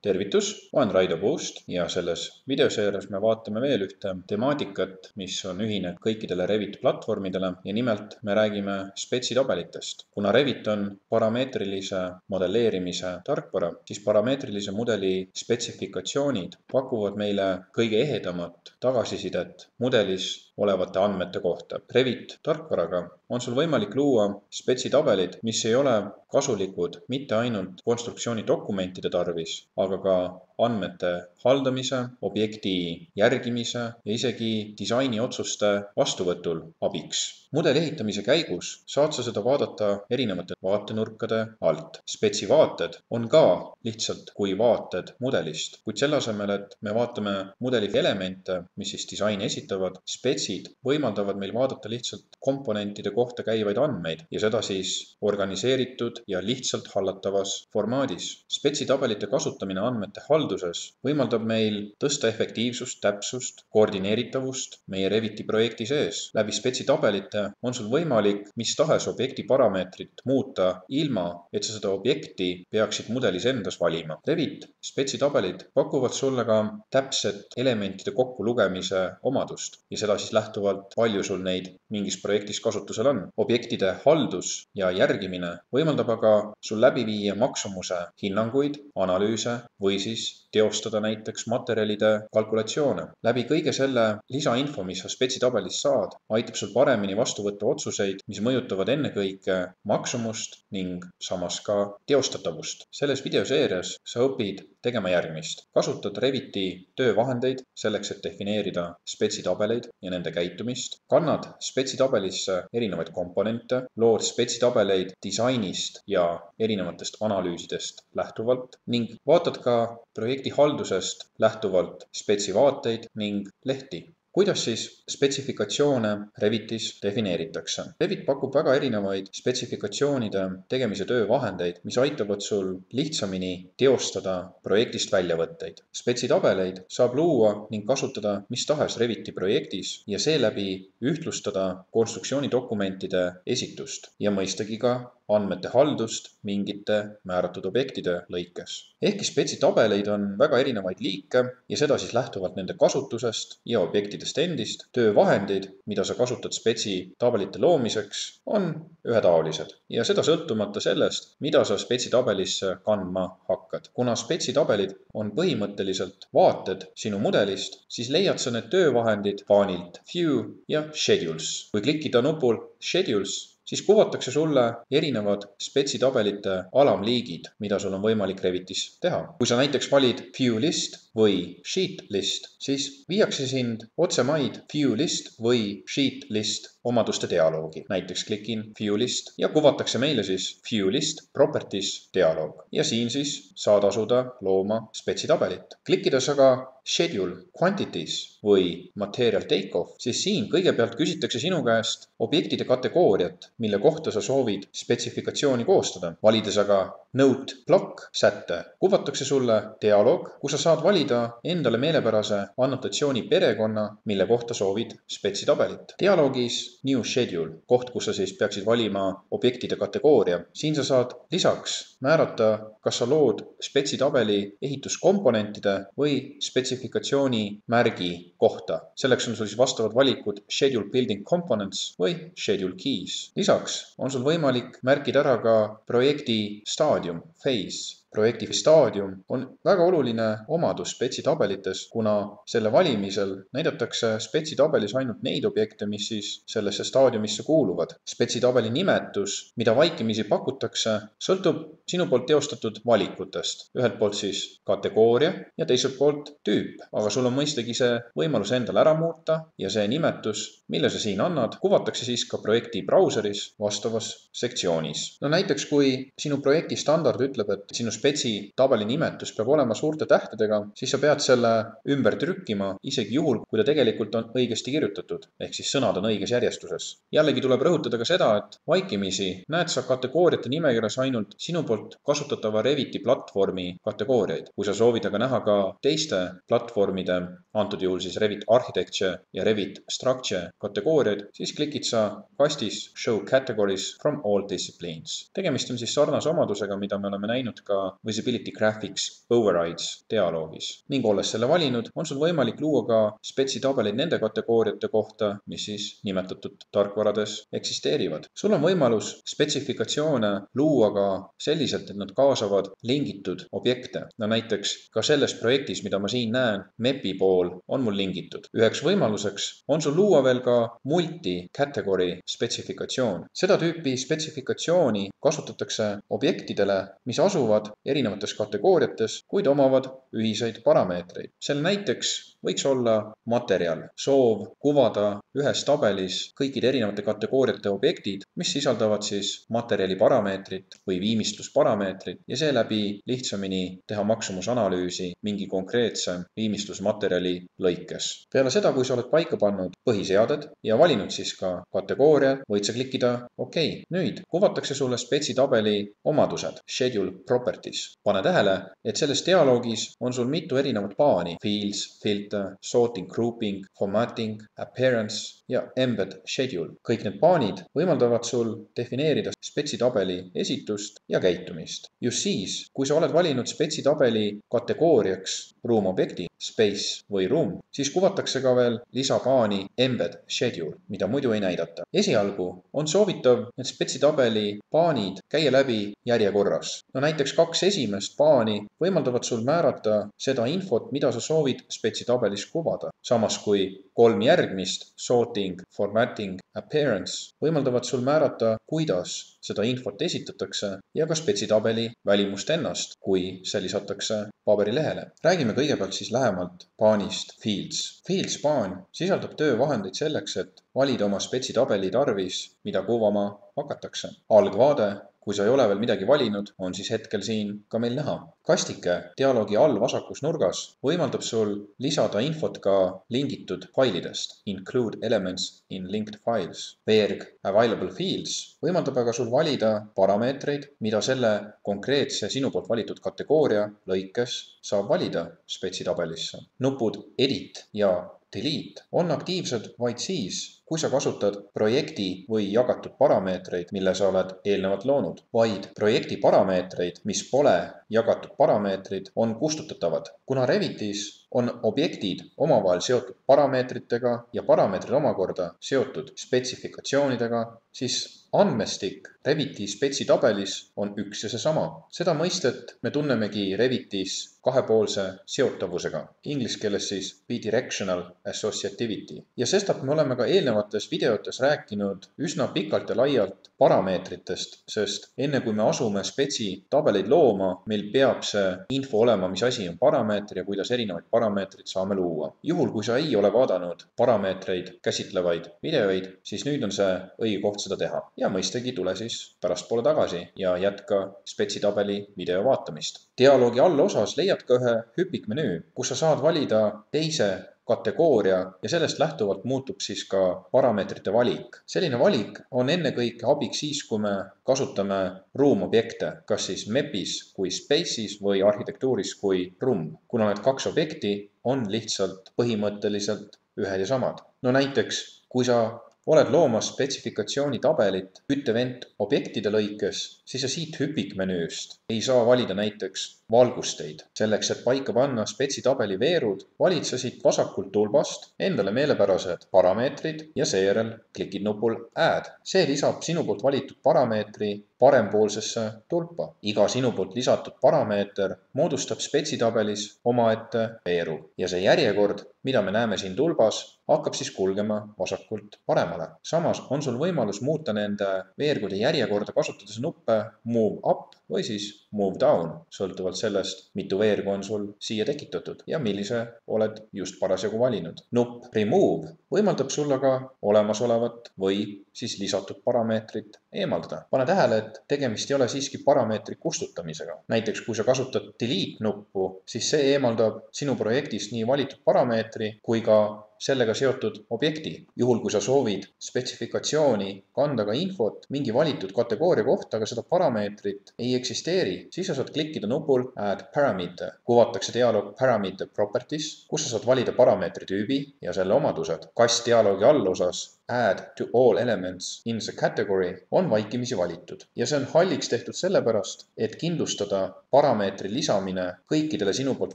tervitus, olen Raido Puust ja selles videoseerias me vaatame veel ühte temaatikat, mis on ühine kõikidele Revit platvormidele ja nimelt me räägime spetsitabelitest. Kuna Revit on parameetrilise modelleerimise tarkvara, siis parameetrilise mudeli spetsifikatsioonid pakuvad meile kõige ehedamat tagasisidet mudelis olevate andmete kohta. Revit tarkvaraga on sul võimalik luua spetsitabelid, mis ei ole kasulikud mitte ainult konstruktsiooni dokumentide tarvis, aga ka andmete haldamise, objekti järgimise ja isegi disainiotsuste vastuvõtul abiks. Mudeli ehitamise käigus saad sa seda vaadata erinevate vaatenurkade alt. Spetsivaated on ka lihtsalt kui vaated mudelist, kuid selle asemel, et me vaatame mudeli elemente, mis siis disaini esitavad, spetsid võimaldavad meil vaadata lihtsalt komponentide kohta käivaid andmeid ja seda siis organiseeritud ja lihtsalt hallatavas formaadis. Spetsitabelite kasutamine andmete halduses võimaldab meil tõsta efektiivsust, täpsust, koordineeritavust meie Reviti projekti sees. Läbi spetsitabelite on sul võimalik mis tahes objekti parameetrit muuta ilma, et sa seda objekti peaksid mudelis endas valima. Revit spetsitabelid pakuvad sulle ka täpset elementide kokkulugemise omadust ja seda siis lähtuvalt, palju sul neid mingis projektis kasutusel on. Objektide haldus ja järgimine võimaldab aga sul läbi viia maksumuse hinnanguid, analüüse või siis teostada näiteks materjalide kalkulatsioone. Läbi kõige selle lisainfo, mis sa spetsitabelis saad, aitab sul paremini vastu võtta otsuseid, mis mõjutavad ennekõike maksumust ning samas ka teostatavust. Selles videoseerias sa õpid tegema järgmist. Kasutad Reviti töövahendeid selleks, et defineerida spetsitabeleid ja nende käitumist. Kannad spetsitabelisse erinevaid komponente, lood spetsitabeleid disainist ja erinevatest analüüsidest lähtuvalt ning vaatad ka projekti haldusest lähtuvalt spetsivaateid ning lehti. Kuidas siis spetsifikatsioone Revitis defineeritakse? Revit pakub väga erinevaid spetsifikatsioonide tegemise töövahendeid, mis aitavad sul lihtsamini teostada projektist väljavõtteid. Spetsitabeleid saab luua ning kasutada mis tahes Reviti projektis ja seeläbi ühtlustada konstruktsioonidokumentide esitust ja mõistagi ka andmete haldust mingite määratud objektide lõikes. Ehkki spetsitabeleid on väga erinevaid liike ja seda siis lähtuvalt nende kasutusest ja objektidest endist, töövahendid, mida sa kasutad spetsitabelite loomiseks, on ühetaolised ja seda sõltumata sellest, mida sa spetsitabelisse kandma hakkad. Kuna spetsitabelid on põhimõtteliselt vaated sinu mudelist, siis leiad sa need töövahendid paanilt View ja Schedules. Kui klikkida nupul Schedules, siis kuvatakse sulle erinevad spetsitabelite alamliigid, mida sul on võimalik Revitis teha. Kui sa näiteks valid View List või Sheet List, siis viiakse sind otsemaid View List või Sheet List omaduste dialoogi. Näiteks klikin View List ja kuvatakse meile siis View List Properties dialoog. Ja siin siis saad asuda looma spetsitabelit. Klikkides aga Schedule, Quantities või Material Takeoff, siis siin kõigepealt küsitakse sinu käest objektide kategooriat, mille kohta sa soovid spetsifikatsiooni koostada. Valides aga Note Block sätte, kuvatakse sulle dialoog, kus sa saad valida endale meelepärase annotatsiooni perekonna, mille kohta soovid spetsitabelit. Dialoogis New Schedule, koht, kus sa siis peaksid valima objektide kategooria. Siin sa saad lisaks määrata, kas sa lood spetsitabeli ehituskomponentide või spetsifikatsiooni märgi kohta. Selleks on sul siis vastavad valikud Schedule Building Components või Schedule Keys. Lisaks on sul võimalik märkida ära ka projekti staadium, phase. Projekti staadium on väga oluline omadus spetsitabelites, kuna selle valimisel näidatakse spetsitabelis ainult neid objekte, mis siis sellesse staadiumisse kuuluvad. Spetsitabeli nimetus, mida vaikimisi pakutakse, sõltub sinu poolt teostatud valikutest. Ühelt poolt siis kategooria ja teiselt poolt tüüp, aga sul on mõistagi see võimalus endale ära muuta ja see nimetus, mille sa siin annad, kuvatakse siis ka projekti brauseris vastavas sektsioonis. No näiteks, kui sinu projekti standard ütleb, et sinu spetsitabeli nimetus peab olema suurte tähtedega, siis sa pead selle ümber trükkima isegi juhul, kui ta tegelikult on õigesti kirjutatud, ehk siis sõnad on õiges järjestuses. Jällegi tuleb rõhutada ka seda, et vaikimisi näed sa kategooriate nimekirjas ainult sinu poolt kasutatava Reviti platvormi kategooriaid. Kui sa soovid aga näha ka teiste platvormide, antud juhul siis Revit Architecture ja Revit Structure kategooriaid, siis klikid sa kastis Show Categories from all disciplines. Tegemist on siis sarnase omadusega, mida me oleme näinud ka Visibility Graphics Overrides dialoogis. ning olles selle valinud, on sul võimalik luua ka spetsitabeleid nende kategooriate kohta, mis siis nimetatud tarkvarades eksisteerivad. sul on võimalus spetsifikatsioone luua ka selliselt, et nad kaasavad lingitud objekte. No näiteks ka selles projektis, mida ma siin näen, MEP-i pool on mul lingitud. Üheks võimaluseks on sul luua veel ka multi-category spetsifikatsioon. Seda tüüpi spetsifikatsiooni kasutatakse objektidele, mis asuvad erinevates kategooriates, kuid omavad ühiseid parameetreid. Selle näiteks võiks olla materjal, soov kuvada ühes tabelis kõikide erinevate kategooriate objektid, mis sisaldavad siis materjali parameetrit või viimistlusparameetrit ja seeläbi lihtsamini teha maksumusanalüüsi mingi konkreetse viimistlusmaterjali lõikes. Peale seda, kui sa oled paika pannud põhiseaded ja valinud siis ka kategooria, võid sa klikkida OK. Nüüd kuvatakse sulle spetsitabeli omadused, schedule properties. Pane tähele, et selles dialoogis on sul mitu erinevat paani, fields, filter, sorting, grouping, formatting, appearance ja embed schedule. Kõik need paanid võimaldavad sul defineerida spetsitabeli esitust ja käitumist. Just siis, kui sa oled valinud spetsitabeli kategooriaks ruumobjekti, space või room, siis kuvatakse ka veel lisapaani embed schedule, mida muidu ei näidata. Esialgu on soovitav need spetsitabeli paanid käia läbi järjekorras. No näiteks 2 esimest paani võimaldavad sul määrata seda infot, mida sa soovid spetsitabelis kuvada. Samas kui 3 järgmist, sorting, formatting, appearance, võimaldavad sul määrata, kuidas seda infot esitatakse ja ka spetsitabeli välimust ennast, kui see lisatakse paberilehele. Räägime kõigepealt siis lähemalt paanist fields. Fields paan sisaldab töövahendeid selleks, et valida oma spetsitabeli tarvis, mida kuvama hakatakse. Algvaade, kui sa ei ole veel midagi valinud, on siis hetkel siin ka meil näha. Kastike dialoogi all vasakus nurgas võimaldab sul lisada infot ka lingitud failidest, include elements in linked files. Veerg available fields võimaldab aga sul valida parameetreid, mida selle konkreetse sinu poolt valitud kategooria lõikes saab valida spetsitabelisse. Nupud edit ja delete on aktiivsed vaid siis, kui sa kasutad projekti või jagatud parameetreid, mille sa oled eelnevalt loonud. Vaid projekti parameetreid, mis pole jagatud parameetrid, on kustutatavad. Kuna Revitis on objektid omavahel seotud parameetritega ja parameetrid omakorda seotud spetsifikatsioonidega, siis andmestik Reviti spetsitabelis on üks ja seesama. Seda mõistet me tunnemegi Revitis kahepoolse seotavusega, inglise keeles siis bidirectional associativity. Ja sestap me oleme ka eelnevates videotes rääkinud üsna pikalt ja laialt parameetritest, sest enne kui me asume spetsitabeleid looma, meil peab see info olema, mis asi on parameeter ja kuidas erinevaid parameetrid saame luua. Juhul, kui sa ei ole vaadanud parameetreid käsitlevaid videoid, siis nüüd on see õige koht seda teha. Ja mõistagi tule siis pärastpoole tagasi ja jätka spetsitabeli video vaatamist. Dialoogi allosas leiad ka ühe hüpikmenüü, kus sa saad valida teise kategooria ja sellest lähtuvalt muutub siis ka parameetrite valik. Selline valik on ennekõike abiks siis, kui me kasutame ruumobjekte, kas siis MEP-is kui Space'is või arhitektuuris kui room, kuna need 2 objekti on lihtsalt põhimõtteliselt ühed ja samad. No näiteks, kui sa oled loomas spetsifikatsiooni tabelit küttevent objektide lõikes, siis sa siit hüpikmenüüst ei saa valida näiteks valgusteid. Selleks, et paika panna spetsitabeli veerud, valid sa siit vasakult tulbast endale meelepärased parameetrid ja seejärel klikid nupul Add. See lisab sinu poolt valitud parameetri parempoolsesse tulpa. Iga sinu poolt lisatud parameeter moodustab spetsitabelis omaette veeru ja see järjekord, mida me näeme siin tulbas, hakkab siis kulgema vasakult paremale. Samas on sul võimalus muuta nende veergude järjekorda kasutades nuppe Move Up või siis Move Down, sõltuvalt sellest, mitu veergu on sul siia tekitatud ja millise oled just parasjagu valinud. Nupp Remove võimaldab sulle ka olemasolevat või siis lisatud parameetrit eemaldada. Pane tähele, et tegemist ei ole siiski parameetri kustutamisega. Näiteks, kui sa kasutad Delete nuppu, siis see eemaldab sinu projektist nii valitud parameetri kui ka sellega seotud objekti. Juhul, kui sa soovid spetsifikatsiooni kanda ka infot mingi valitud kategooria kohta, aga seda parameetrit ei eksisteeri, siis sa saad klikkida nupul Add Parameter. Kuvatakse dialoog Parameter Properties, kus sa saad valida parameetri tüübi ja selle omadused. Kast dialoogi allosas Add to all elements in the category on vaikimisi valitud. Ja see on halliks tehtud sellepärast, et kindlustada, parameetri lisamine kõikidele sinu poolt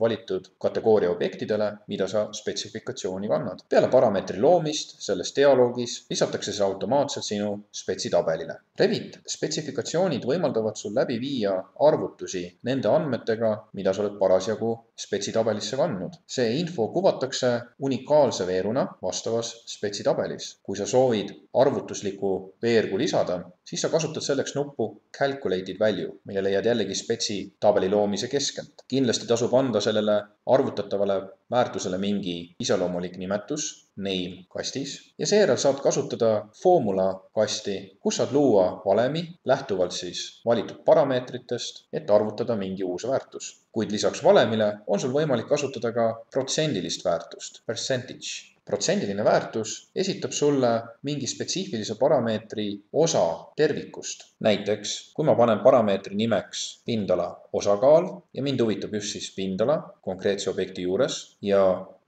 valitud kategooria objektidele, mida sa spetsifikatsiooni kannad. Peale parameetri loomist selles dialoogis lisatakse see automaatselt sinu spetsitabelile. Revit spetsifikatsioonid võimaldavad sul läbi viia arvutusi nende andmetega, mida sa oled parasjagu spetsitabelisse kandnud. See info kuvatakse unikaalse veeruna vastavas spetsitabelis. Kui sa soovid arvutusliku veergu lisada, siis sa kasutad selleks nuppu Calculated Value, mille leiad jällegi spetsitabeli loomise keskelt. Kindlasti tasub anda sellele arvutatavale väärtusele mingi iseloomulik nimetus, name kastis, ja seejärel saad kasutada formula kasti, kus saad luua valemi lähtuvalt siis valitud parameetritest, et arvutada mingi uus väärtus. Kuid lisaks valemile on sul võimalik kasutada ka protsendilist väärtust, percentage. Protsendiline väärtus esitab sulle mingi spetsiifilise parameetri osa tervikust. Näiteks, kui ma panen parameetri nimeks pindala osakaal ja mind huvitab just siis pindala konkreetse objekti juures ja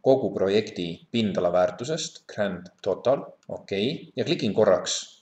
kogu projekti pindala väärtusest, grand total, ja klikin korraks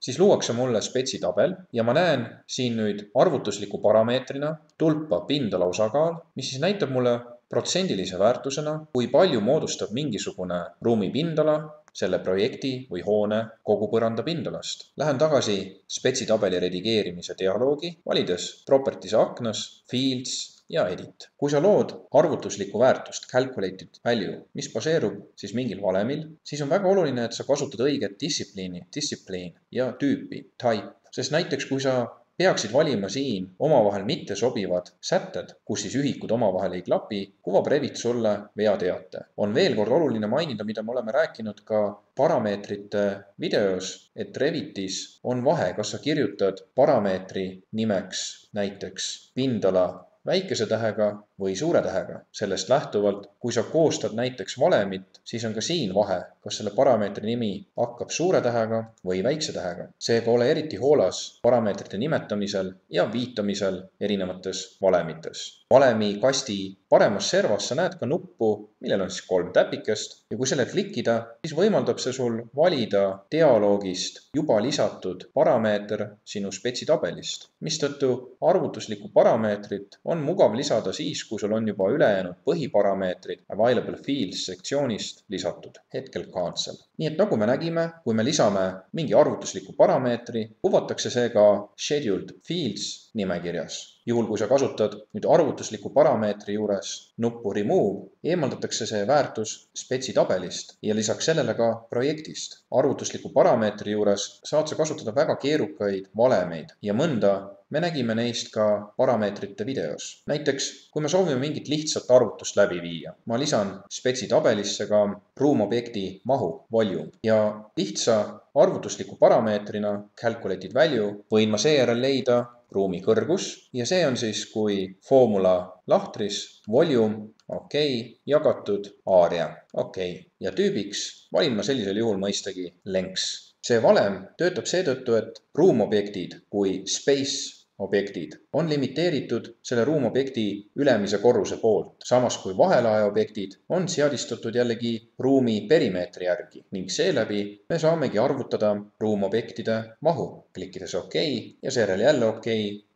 siis luuakse mulle spetsitabel ja ma näen siin nüüd arvutusliku parameetrina tulpa pindala osakaal, mis siis näitab mulle protsendilise väärtusena, kui palju moodustab mingisugune ruumi pindala selle projekti või hoone kogu põranda pindalast. Lähen tagasi spetsitabeli redigeerimise dialoogi, valides Properties aknas, Fields ja Edit. Kui sa lood arvutuslikku väärtust, Calculated Value, mis baseerub siis mingil valemil, siis on väga oluline, et sa kasutad õiget discipline ja tüüpi, type. Sest näiteks, kui sa peaksid valima siin omavahel mitte sobivad sätted, kus siis ühikud omavahel ei klapi, kuvab Revit sulle veateate. On veel kord oluline mainida, mida me oleme rääkinud ka parameetrite videos, et Revitis on vahe, kas sa kirjutad parameetri nimeks näiteks pindala väikese tähega või suure tähega. Sellest lähtuvalt, kui sa koostad näiteks valemit, siis on ka siin vahe, kas selle parameetri nimi hakkab suure tähega või väikse tähega. Seega ole eriti hoolas parameetrite nimetamisel ja viitamisel erinevates valemites. Valemi kasti paremas servas sa näed ka nuppu, millel on siis 3 täpikest ja kui selle klikkida, siis võimaldab see sul valida dialoogist juba lisatud parameeter sinu spetsitabelist, mistõttu arvutuslikku parameetrit on mugav lisada siis, kui sul on juba ülejäänud põhiparameetrid Available Fields sektsioonist lisatud, hetkel cancel. Nii et nagu me nägime, kui me lisame mingi arvutusliku parameetri, kuvatakse see ka Scheduled Fields nimekirjas. Juhul, kui sa kasutad nüüd arvutusliku parameetri juures nuppu Remove, eemaldatakse see väärtus spetsitabelist ja lisaks sellele ka projektist. Arvutusliku parameetri juures saad sa kasutada väga keerukaid valemeid ja mõnda me nägime neist ka parameetrite videos. Näiteks, kui me soovime mingit lihtsat arvutust läbi viia, ma lisan spetsitabelisse ka ruumobjekti mahu, volume, ja lihtsa arvutusliku parameetrina Calculated Value võin ma seejärel leida ruumi kõrgus ja see on siis kui formula lahtris volume, jagatud area, ja tüübiks valin ma sellisel juhul mõistagi lengths. See valem töötab seetõttu, et ruumobjektid kui space objektid on limiteeritud selle ruumobjekti ülemise korruse poolt, samas kui vahelae objektid on seadistatud jällegi ruumi perimeetri järgi ning seeläbi me saamegi arvutada ruumobjektide mahu, klikkides ja seejärel jälle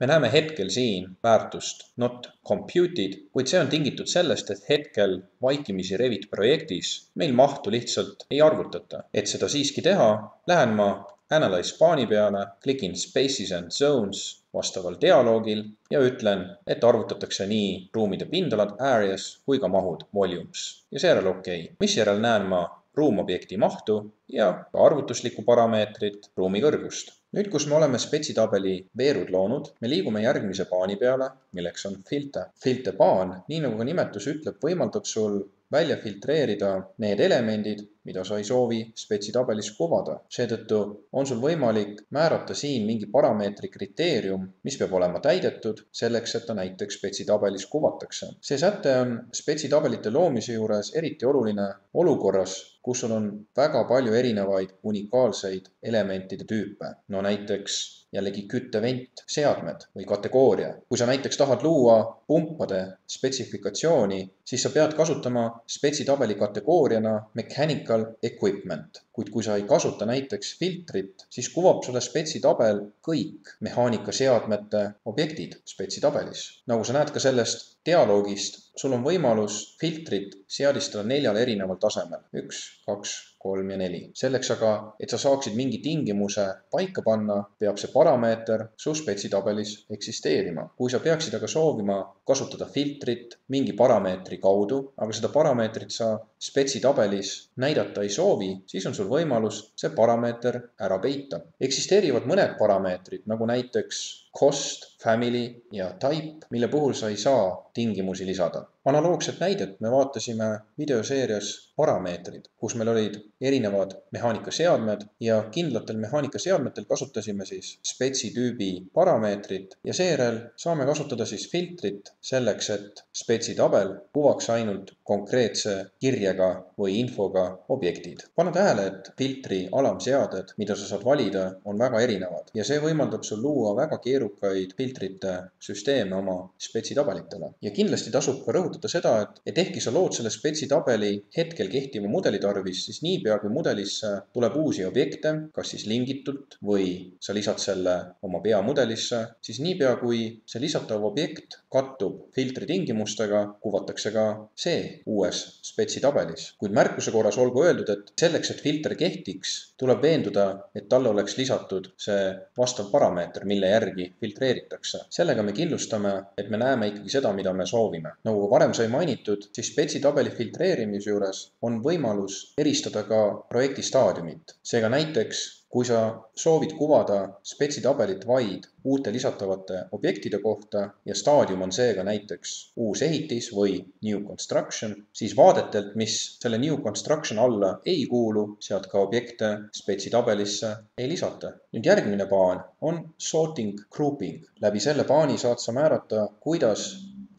Me näeme hetkel siin väärtust not computed, kuid see on tingitud sellest, et hetkel vaikimisi Revit projektis meil mahtu lihtsalt ei arvutata. Et seda siiski teha, lähen ma Analyze paani peale, klikin Spaces and Zones vastaval dialoogil ja ütlen, et arvutatakse nii ruumide pindalad areas kui ka mahud volumes ja seejärel Misjärel näen ma ruumobjekti mahtu ja ka arvutuslikku parameetrit ruumi kõrgust. Nüüd, kus me oleme spetsitabeli veerud loonud, me liigume järgmise paani peale, milleks on filter. Filter paan, nii nagu ka nimetus ütleb, võimaldab sul välja filtreerida need elemendid, mida sa ei soovi spetsitabelis kuvada. Seetõttu on sul võimalik määrata siin mingi parameetri kriteerium, mis peab olema täidetud selleks, et ta näiteks spetsitabelis kuvatakse. See säte on spetsitabelite loomise juures eriti oluline olukorras, kus sul on väga palju erinevaid unikaalseid elementide tüüpe. No näiteks jällegi küttevent, seadmed või kategooria. Kui sa näiteks tahad luua pumpade spetsifikatsiooni, siis sa pead kasutama spetsitabeli kategooriana mechanical mechanical equipment, kuid kui sa ei kasuta näiteks filtrit, siis kuvab sulle spetsitabel kõik mehaanikaseadmete objektid spetsitabelis. Nagu sa näed ka sellest dialoogist, sul on võimalus filtrit seadistada 4 erineval tasemel. 1, 2, 3 ja 4. Selleks aga, et sa saaksid mingi tingimuse paika panna, peab see parameeter su spetsitabelis eksisteerima. Kui sa peaksid aga soovima kasutada filtrit mingi parameetri kaudu, aga seda parameetrit sa spetsitabelis näidata ei soovi, siis on sul võimalus see parameeter ära peita. Eksisteerivad mõned parameetrid, nagu näiteks cost, family ja type, mille puhul sa ei saa tingimusi lisada. Analoogset näidet me vaatasime videoseerias parameetrid, kus meil olid erinevad mehaanikaseadmed ja kindlatel mehaanikaseadmetel kasutasime siis spetsitüübi parameetrit ja seejärel saame kasutada siis filtrit selleks, et spetsitabel kuvaks ainult konkreetse kirjega või infoga objektid. Pane tähele, et filtri alamseaded, mida sa saad valida, on väga erinevad ja see võimaldab sul luua väga keerukaid filtrite süsteeme oma spetsitabelitele. Ja kindlasti tasub ka rõhutada seda, et ehkki sa lood selle spetsitabeli hetkel kehtiva mudeli tarvis, siis niipea kui mudelisse tuleb uusi objekte, kas siis lingitult või sa lisad selle oma peamudelisse, siis niipea kui see lisatav objekt kattub filtri tingimustega, kuvatakse ka see uues spetsitabelis. Kuid märkuse korras olgu öeldud, et selleks, et filter kehtiks, tuleb veenduda, et talle oleks lisatud see vastav parameeter, mille järgi filtreeritakse. Sellega me kindlustame, et me näeme ikkagi seda, mida me soovime. Nagu varem sai mainitud, siis spetsitabeli filtreerimise juures on võimalus eristada ka projekti staadiumit. Seega näiteks, kui sa soovid kuvada spetsitabelit vaid uute lisatavate objektide kohta ja staadium on seega näiteks uus ehitis või new construction, siis vaadetelt, mis selle new construction alla ei kuulu, sealt ka objekte spetsitabelisse ei lisata. Nüüd järgmine paan on sorting grouping. Läbi selle paani saad sa määrata, kuidas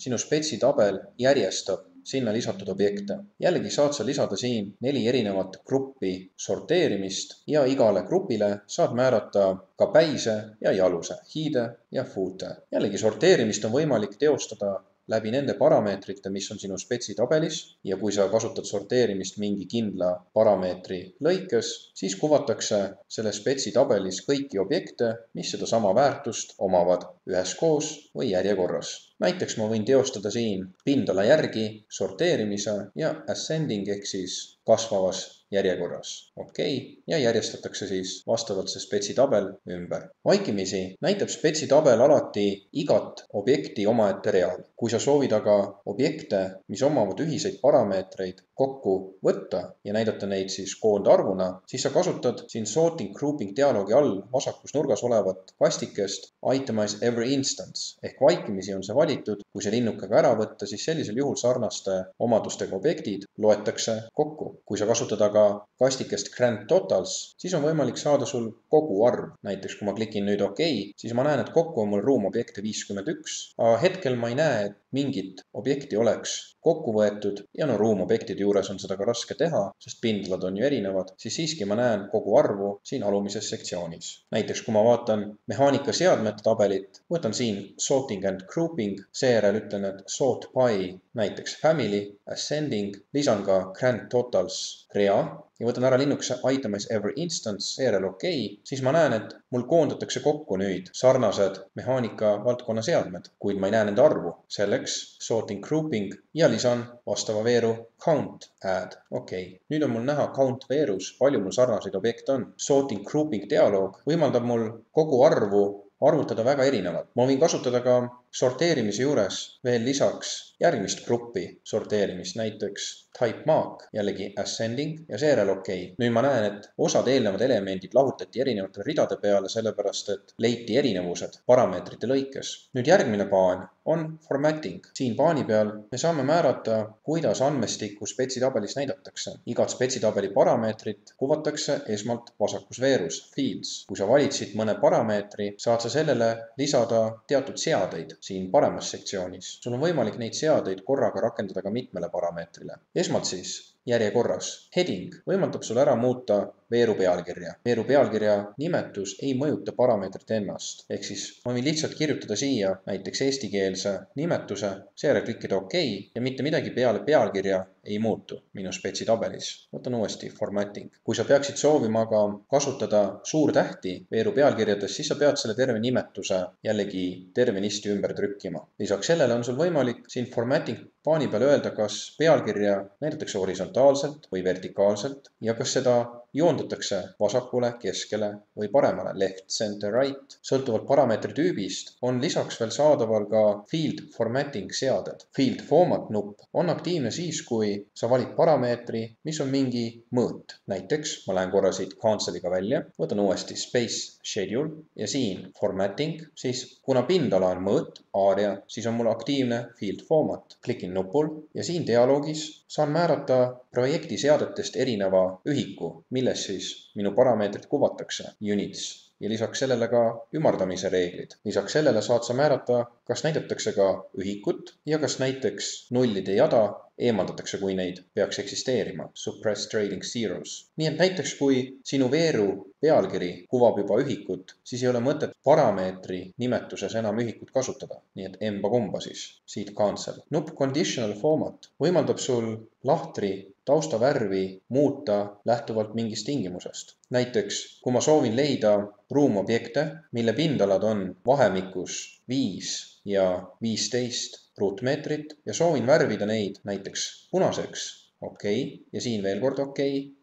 sinu spetsitabel järjestab sinna lisatud objekte. Jällegi saad sa lisada siin 4 erinevat gruppi sorteerimist ja igale grupile saad määrata ka päise ja jaluse, hiide ja foote. Jällegi sorteerimist on võimalik teostada läbi nende parameetrite, mis on sinu spetsitabelis ja kui sa kasutad sorteerimist mingi kindla parameetri lõikes, siis kuvatakse selle spetsitabelis kõiki objekte, mis seda sama väärtust omavad üheskoos või järjekorras. Näiteks ma võin teostada siin pindala järgi sorteerimise ja ascending ehk siis kasvavas järjekorras. Ja järjestatakse siis vastavalt see spetsitabel ümber. Vaikimisi näitab spetsitabel alati igat objekti omaette real. Kui sa soovid aga objekte, mis omavad ühiseid parameetreid, kokku võtta ja näidata neid siis koondarvuna, siis sa kasutad siin sorting grouping dialoogi all vasakus nurgas olevat kastikest itemize every instance ehk vaikimisi on see valitud. Kui see linnukega ära võtta, siis sellisel juhul sarnaste omadustega objektid loetakse kokku. Kui sa kasutad aga kastikest grand totals, siis on võimalik saada sul kogu arv. Näiteks kui ma klikin nüüd OK, siis ma näen, et kokku on mul ruumobjekte 51, aga hetkel ma ei näe, et mingit objekti oleks kokku võetud ja ruumobjektide juures on seda ka raske teha, sest pindalad on ju erinevad, siis siiski ma näen kogu arvu siin alumises sektsioonis. Näiteks kui ma vaatan mehaanikaseadmete tabelit, võtan siin sorting and grouping, seejärel ütlen, et sort by näiteks family, ascending, lisan ka grand totals rea ja võtan ära linnukese itemize every instance, seejärel OK, siis ma näen, et mul koondatakse kokku nüüd sarnased mehaanika valdkonna seadmed, kuid ma ei näe nende arvu. Selleks sorting grouping ja lisan vastava veeru count add. OK, nüüd on mul näha count veerus, palju mul sarnaseid objekte on. Sorting grouping dialoog võimaldab mul kogu arvu arvutada väga erinevalt. Ma võin kasutada ka sorteerimise juures veel lisaks järgmist gruppi sorteerimist, näiteks type mark, jällegi ascending ja seejärel OK. Nüüd ma näen, et osad eelnevad elemendid lahutati erinevate ridade peale, sellepärast et leiti erinevused parameetrite lõikes. Nüüd järgmine paan on formatting. Siin paani peal me saame määrata, kuidas andmestikku spetsitabelis näidatakse. Igat spetsitabeli parameetrit kuvatakse esmalt vasakus veerus, fields. Kui sa valitsid mõne parameetri, saad sa sellele lisada teatud seadeid siin paremas sektsioonis. Sul on võimalik neid seadeid korraga rakendada ka mitmele parameetrile. Esmalt siis järjekorras. Heading võimaldab sul ära muuta veeru pealkirja. Veeru pealkirja nimetus ei mõjuta parameetrit ennast. Ehk siis ma võin lihtsalt kirjutada siia näiteks eestikeelse nimetuse, seejärel klikkida OK ja mitte midagi peale pealkirja ei muutu minu spetsi tabelis. Võtan uuesti formatting. Kui sa peaksid soovima aga kasutada suurtähti veeru pealkirjades, siis sa pead selle terve nimetuse jällegi tervenisti ümber trükkima. Lisaks sellele on sul võimalik siin formatting paani peal öelda, kas pealkirja näidatakse horisontaalselt või vertikaalselt ja kas seda joondatakse vasakule, keskele või paremale, left, center, right. Sõltuvalt parameetri tüübist on lisaks veel saadaval ka field formatting seaded. Field format nupp on aktiivne siis, kui sa valid parameetri, mis on mingi mõõt. Näiteks ma lähen korra siit cancel'iga välja, võtan uuesti space schedule ja siin formatting, siis kuna pindala on mõõt, area, siis on mul aktiivne field format. Klikin nupul ja siin dialoogis saan määrata projekti seadetest erineva ühiku, milles siis minu parameetrit kuvatakse, units, ja lisaks sellele ka ümardamise reeglid. Lisaks sellele saad sa määrata, kas näidatakse ka ühikut ja kas näiteks nullide jada eemaldatakse, kui neid peaks eksisteerima, suppress trading zeros. Nii et näiteks, kui sinu veeru pealkiri kuvab juba ühikut, siis ei ole mõtet parameetri nimetuses enam ühikut kasutada. Nii et emba-kumba siis, siit cancel. Nupp conditional format võimaldab sul lahtri taustavärvi muuta lähtuvalt mingist tingimusest. Näiteks, kui ma soovin leida ruumobjekte, mille pindalad on vahemikus 5 ja 15 ruutmeetrit ja soovin värvida neid näiteks punaseks, OK, ja siin veel kord OK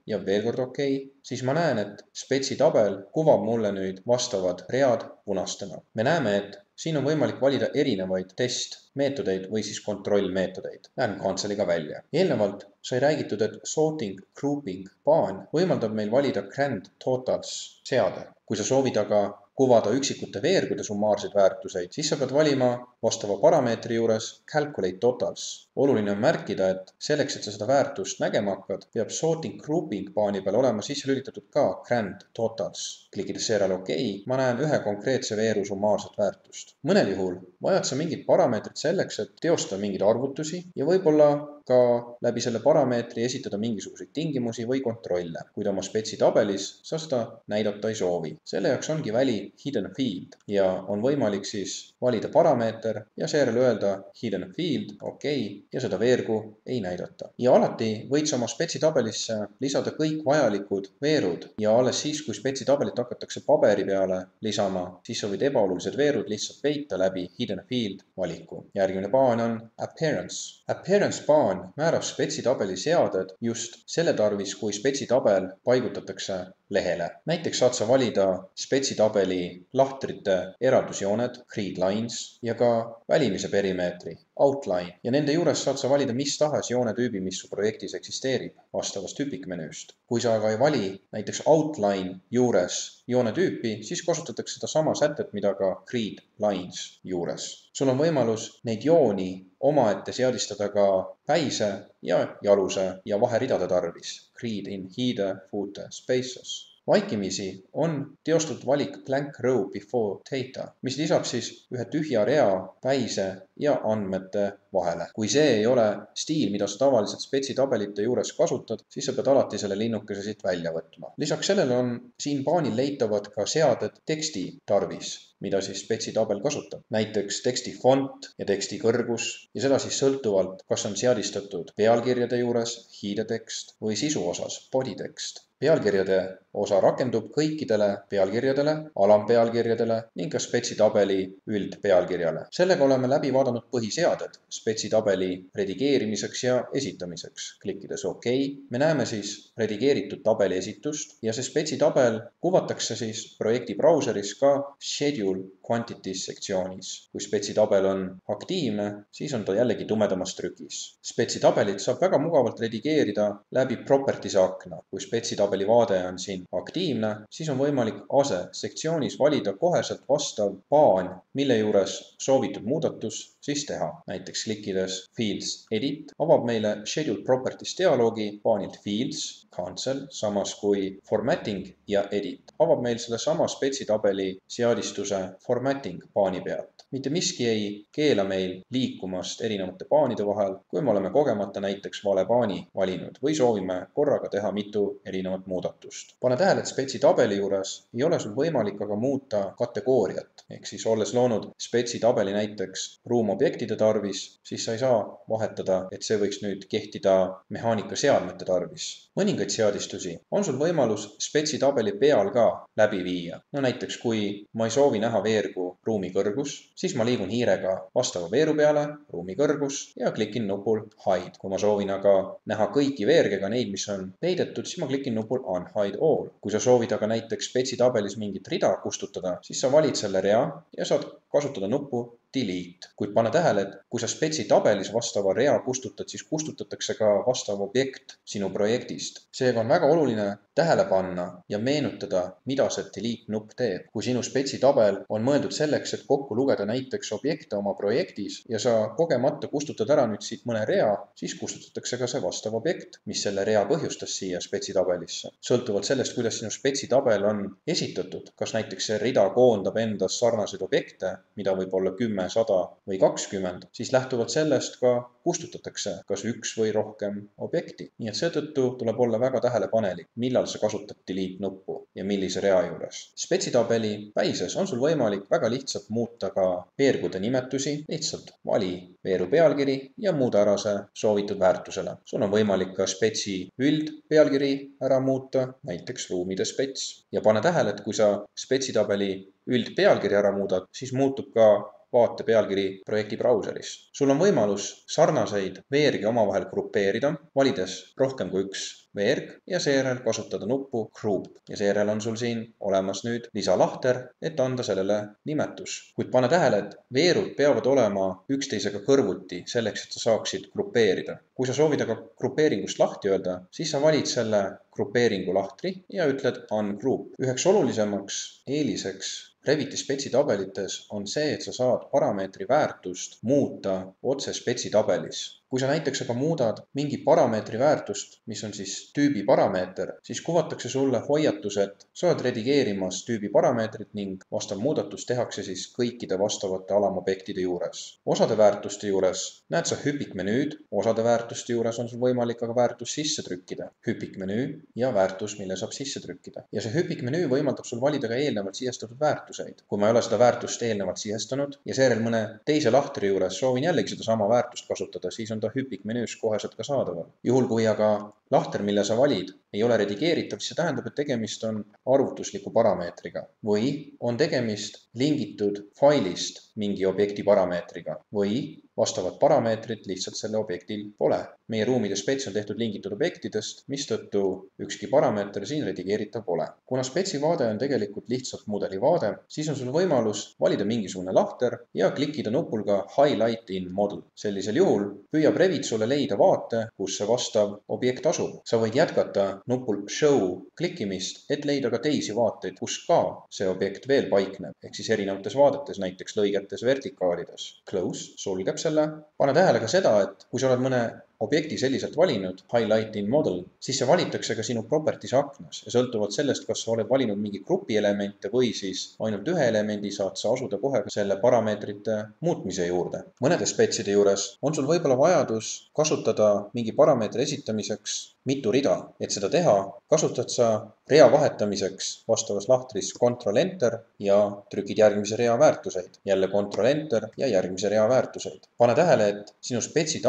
ja veel kord OK, siis ma näen, et spetsi tabel kuvab mulle nüüd vastavad read punastena. Me näeme, et siin on võimalik valida erinevaid testmeetodeid või siis kontrollmeetodeid. Lähen cancel'iga välja. Eelnevalt sai räägitud, et sorting grouping paan võimaldab meil valida grand totals seade. Kui sa soovid aga kuvada üksikute veergude summaarseid väärtuseid, siis sa pead valima vastava parameetri juures calculate totals. Oluline on märkida, et selleks, et sa seda väärtust nägema hakkad, peab sorting grouping paani peal olema sisse lülitatud ka grand totals. Klikides seejärel OK, ma näen ühe konkreetse veeru summaarset väärtust. Mõnel juhul vajad sa mingit parameetrit selleks, et teostada mingeid arvutusi ja võib-olla ka läbi selle parameetri esitada mingisuguseid tingimusi või kontrolle. Kuid oma spetsi tabelis sa seda näidata ei soovi. Selle jaoks ongi väli hidden field ja on võimalik siis valida parameeter ja seejärel öelda hidden field, OK, ja seda veergu ei näidata. Ja alati võid sa oma spetsi tabelisse lisada kõik vajalikud veerud ja alles siis, kui spetsi tabelit hakatakse paberi peale lisama, siis sa võid ebaolulised veerud lihtsalt peita läbi hidden field valiku. Järgmine paan on appearance. Appearance paan määrab spetsi tabeli seaded just selle tarvis, kui spetsi tabel paigutatakse lehele. Näiteks saad sa valida spetsi tabeli lahtrite eraldusjooned, grid lines ja ka välimise perimeetri, outline. Ja nende juures saad sa valida mis tahes joonetüübi, mis su projektis eksisteerib vastavast tüpikmenüüst. Kui sa aga ei vali näiteks outline juures joonetüüpi, siis kasutatakse seda sama sätet, mida ka grid lines juures. Sul on võimalus neid jooni omaette seadistada ka päise ja jaluse ja vaheridade tarvis. Grid in header, footer, spaces. Vaikimisi on teostatud valik blank row before data, mis lisab siis ühe tühja rea päise ja andmete vahele. Kui see ei ole stiil, mida sa tavaliselt spetsi tabelite juures kasutad, siis sa pead alati selle linnukese siit välja võtma. Lisaks sellele on siin paanil leitavad ka seaded teksti tarvis, mida siis spetsi tabel kasutab. Näiteks teksti font ja teksti kõrgus ja seda siis sõltuvalt, kas on seadistatud pealkirjade juures, hiidetekst või sisu osas, body tekst. Pealkirjade osa rakendub kõikidele pealkirjadele, alampealkirjadele ning ka spetsi tabeli üldpealkirjale. Sellega oleme läbi vaadanud põhiseaded spetsi tabeli redigeerimiseks ja esitamiseks. Klikkides OK, me näeme siis redigeeritud tabeli esitust ja see spetsi tabel kuvatakse siis projekti brauseris ka schedule quantities sektsioonis. Kui spetsi tabel on aktiivne, siis on ta jällegi tumedamas trükis. Spetsi tabelit saab väga mugavalt redigeerida läbi properties akna. Kui spetsi tabeli vaade on siin aktiivne, siis on võimalik ase sektsioonis valida koheselt vastav paan, mille juures soovitud muudatus siis teha. Näiteks klikkides Fields Edit avab meile Schedule Properties dialoogi paanilt Fields, Cancel, samas kui Formatting ja Edit avab meil selle sama spetsi tabeli seadistuse Formatting paani pealt. mitte miski ei keela meil liikumast erinevate paanide vahel, kui me oleme kogemata näiteks vale paani valinud või soovime korraga teha mitu erinevat muudatust. pane tähele, et spetsi tabeli juures ei ole sul võimalik aga muuta kategooriat, ehk siis olles loonud spetsi tabeli näiteks ruumobjektide tarvis, siis sa ei saa vahetada, et see võiks nüüd kehtida mehaanikaseadmete tarvis. Mõningaid seadistusi on sul võimalus spetsi tabeli peal ka läbi viia. No näiteks, kui ma ei soovi näha veergu ruumi kõrgus, siis ma liigun hiirega vastava veeru peale, ruumi kõrgus ja klikin nupul Hide. Kui ma soovin aga näha kõiki veergega neid, mis on peidetud, siis ma klikin nupul Unhide All. Kui sa soovid aga näiteks spetsi tabelis mingit rida kustutada, siis sa valid selle rea ja saad kasutada nuppu Delete. Kuid pane tähele, et kui sa spetsi tabelis vastava rea kustutad, siis kustutatakse ka vastav objekt sinu projektist. Seega on väga oluline tähele panna ja meenutada, mida see Delete nupp teeb. Kui sinu spetsi tabel on mõeldud selleks, et kokku lugeda näiteks objekte oma projektis ja sa kogemata kustutad ära nüüd siit mõne rea, siis kustutatakse ka see vastav objekt, mis selle rea põhjustas siia spetsi tabelisse. Sõltuvalt sellest, kuidas sinu spetsi tabel on esitatud, kas näiteks see rida koondab endas sarnaseid objekte, mida võib olla 10, 100 või 20, siis lähtuvalt sellest ka kustutatakse kas üks või rohkem objekti. Nii et seetõttu tuleb olla väga tähelepanelik, millal sa kasutad Delete nuppu ja millise rea juures. Spetsi tabeli päises on sul võimalik väga lihtsalt muuta ka veergude nimetusi, lihtsalt vali veeru pealkiri ja muuda ära see soovitud väärtusele. Sul on võimalik ka spetsi üldpealkiri ära muuta, näiteks ruumide spets. Ja pane tähele, et kui sa spetsi tabeli üldpealkiri ära muudad, siis muutub ka vaate pealkiri projekti brauseris. Sul on võimalus sarnaseid veergi omavahel grupeerida, valides rohkem kui üks veerg ja seejärel kasutada nuppu Group. Ja seejärel on sul siin olemas nüüd lisalahter, et anda sellele nimetus. Kuid pane tähele, et veerud peavad olema üksteisega kõrvuti selleks, et sa saaksid grupeerida. Kui sa soovid aga grupeeringust lahti öelda, siis sa valid selle grupeeringu lahtri ja ütled Ungroup. Üheks olulisemaks eeliseks Reviti spetsi tabelites on see, et sa saad parameetri väärtust muuta otse spetsi tabelis. Kui sa näiteks aga muudad mingi parameetri väärtust, mis on siis tüübi parameeter, siis kuvatakse sulle hoiatus, et sa oled redigeerimas tüübi parameetrit ning vastav muudatus tehakse siis kõikide vastavate alamobjektide juures. Osade väärtuste juures näed sa hüpikmenüüd, osade väärtuste juures on sul võimalik aga väärtus sisse trükkida. Hüpikmenüü ja väärtus, mille saab sisse trükkida. Ja see hüpikmenüü võimaldab sul valida ka eelnevalt sisestatud väärtuseid. Kui ma ei ole seda väärtust eelnevalt sisestanud ja seejärel mõne teise lahtri juures soovin jällegi seda sama väärtust kasutada, siis on ta hüpikmenüüs koheselt ka saadaval. Juhul kui aga lahter, mille sa valid, ei ole redigeeritav, siis see tähendab, et tegemist on arvutusliku parameetriga või on tegemist lingitud failist mingi objekti parameetriga või vastavat parameetrit lihtsalt selle objektil pole. Meie ruumide spets on tehtud lingitud objektidest, mistõttu ükski parameeter siin redigeeritav pole. Kuna spetsi vaade on tegelikult lihtsalt mudeli vaade, siis on sul võimalus valida mingisugune lahter ja klikkida nupul ka Highlight in Model. Sellisel juhul püüab Revit sulle leida vaate, kus see vastav objekt asub. Sa võid jätkata nupul Show klikkimist, et leida ka teisi vaateid, kus ka see objekt veel paikneb, ehk siis erinevates vaadetes, näiteks lõigetes, vertikaalides. Close sulgeb selle. Pane tähele ka seda, et kui sa oled mõne objekti selliselt valinud, Highlight in Model, siis see valitakse ka sinu properties aknas ja sõltuvalt sellest, kas sa oled valinud mingi grupi elemente või siis ainult ühe elemendi, saad sa asuda kohe selle parameetrite muutmise juurde. Mõnede spetside juures on sul võib-olla vajadus kasutada mingi parameetri esitamiseks mitu rida. Et seda teha, kasutad sa rea vahetamiseks vastavas lahtris Ctrl-Enter ja trükid järgmise rea väärtuseid. Jälle Ctrl-Enter ja järgmise rea väärtuseid. Pane tähele, et sinu spetsi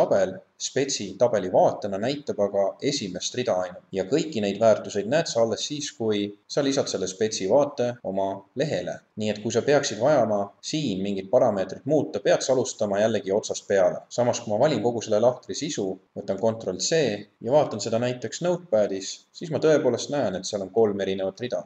tabeli vaatena näitab aga esimest rida ainult ja kõiki neid väärtuseid näed sa alles siis, kui sa lisad selle spetsi vaate oma lehele. Nii et kui sa peaksid vajama siin mingit parameetrit muuta, pead sa alustama jällegi otsast peale. Samas, kui ma valin kogu selle lahtri sisu, võtan Ctrl-C ja vaatan seda näiteks Notepadis, siis ma tõepoolest näen, et seal on 3 erinevat rida.